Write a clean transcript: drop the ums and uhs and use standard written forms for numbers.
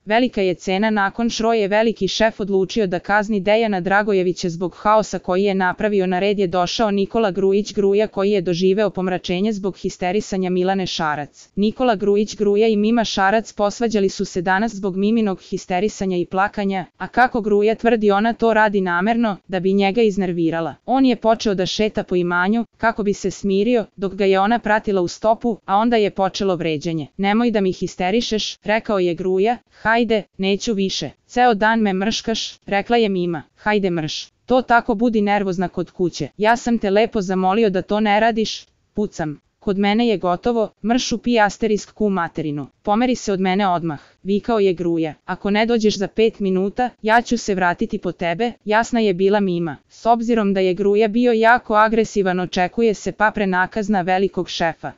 Velika je cena. Nakon što je veliki šef odlučio da kazni Dejana Dragojevića zbog haosa koji je napravio, na red je došao Nikola Grujić Gruja, koji je doživeo pomračenje zbog histerisanja Milane Šarac. Nikola Grujić Gruja i Mima Šarac posvađali su se danas zbog Miminog histerisanja i plakanja, a kako Gruja tvrdi, ona to radi namerno, da bi njega iznervirala. On je počeo da šeta po imanju, kako bi se smirio, dok ga je ona pratila u stopu, a onda je počelo vređanje. Nemoj da mi histerišeš, rekao je Gruja. Hajde, neću više. Ceo dan me mrškaš, rekla je Mima. Hajde mrš. To tako, budi nervozna kod kuće. Ja sam te lepo zamolio da to ne radiš. Pucam. Kod mene je gotovo, mršu pi asterisk ku materinu. Pomeri se od mene odmah, vikao je Gruja. Ako ne dođeš za 5 minuta, ja ću se vratiti po tebe, jasna je bila Mima. S obzirom da je Gruja bio jako agresivan, očekuje se prenakazna velikog šefa.